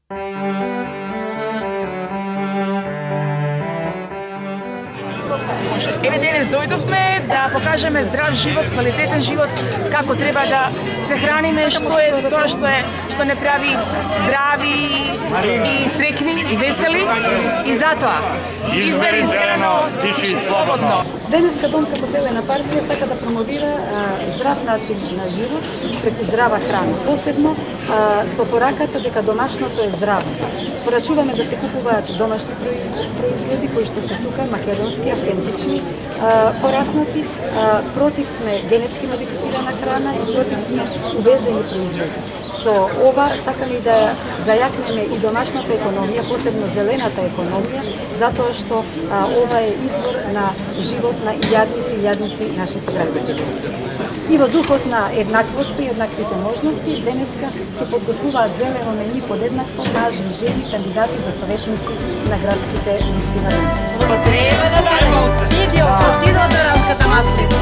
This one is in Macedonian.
Еве денес дојдовме да покажеме здрав живот, квалитетен живот, како треба да се храниме, што е тоа што не прави здрави и среќни и весели, и затоа избери зелено, диши слободно. Денеска Дом како зелена партија сака да промовира здрав начин на живот преку здрава храна, посебно со пораката дека домашното е здраво. Порачуваме да се купуваат домашни производи кои што се тука, македонски, автентични, пораснати. Против сме генетски модифицирана храна и против сме увезени производи. Со ова сакаме да зајакнеме и домашната економија, посебно зелената економија, затоа што ова е извор на живот на јадници наши сограѓани. И во духот на еднаквост и еднаквите можности, денеска ќе подготвуваат зелено мени подеднакво мажни жени кандидати за советници на градските листи на Дом. Треба да дадем видео од Тидо Доранската маслина.